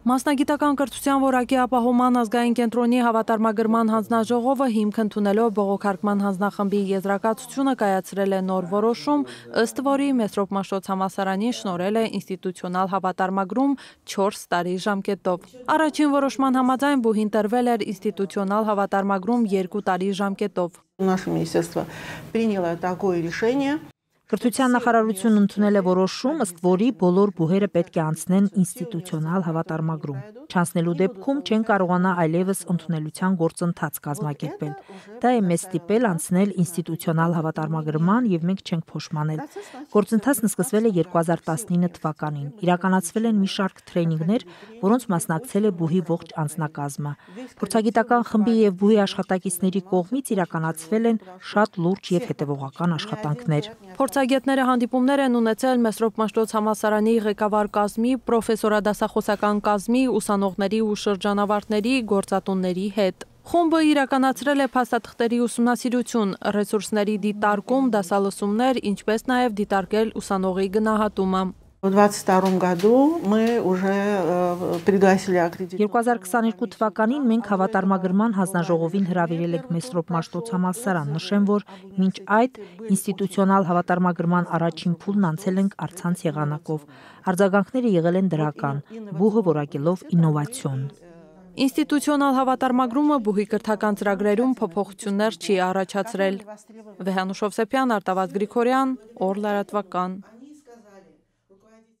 Մասնագիտական կրթության որակի ապահովման ազգային կենտրոնի հավատարմագրման հանձնաժողովը հիմք ընդունելով բողոքարկման հանձնախմբի եզրակացությունը կայացրել է նոր որոշում, ըստ որի Մեսրոպ Մաշտոց համալսարանին շնորհել է ինստիտուցիոնալ հավատարմագրում 4 տարի ժամկետով։ Առաջին որոշման համաձայն բուհին տրվել էր ինստիտուցիոնալ հավատարմագրում 2 տարի ժամկետով։ Наше министерство приняло такое решение. Կրթության նախարարությունն ընդունել է որոշում, ըստ որի բոլոր բուհերը պետք է անցնեն ինստիտուցիոնալ հավատարմագրում։ Չանցնելու դեպքում չեն կարողանա այլևս ընդունելության գործընթաց կազմակերպել։ Դա է մեզ ստիպել անցնել ինստիտուցիոնալ հավատարմագրման եւ մենք չենք փոշմանել։ Գործընթացն սկսվել է 2019 թվականին։ Իրականացվել են մի շարք թրեյնինգներ, որոնց մասնակցել է բուհի ողջ անձնակազմը։ Փորձագիտական խմբի եւ բուհի աշխատակիցների կողմից իրականացվել են շատ լուրջ եւ հետեւողական աշխատանքներ։ Փորձագետները հանդիպումներ են ունեցել Մեսրոպ Մաշտոց համալսարանի ղեկավար կազմի, պրոֆեսորադասախոսական կազմի, ուսանողների ու շրջանավարտների, գործատունների հետ։ Խումբը իրականացրել է փաստաթղթերի ուսումնասիրություն, ռեսուրսների դիտարկում, դասալսումներ, ինչպես նաև դիտարկել ուսանողի գնահատումը։ В 2022 году мы уже пригласили 2022 թվականին մենք հավատարմագրման հանձնաժողովին հրավիրել ենք Մեսրոպ Մաշտոց համալսարան։ Նշեմ, որ մինչ այդ ինստիտուցիոնալ հավատարմագրման առաջին փուլն անցել ենք առցանց եղանակով։ Արձագանքները եղել են դրական, բուհը որակելով ինովացիոն։ Ինստիտուցիոնալ հավատարմագրումը բուհի կրթական ծրագրերում փոփոխություններ չի առաջացրել։ Վեհանուշ Հովսեփյան, Արտավազդ Գրիգորյան, Օր լրատվական։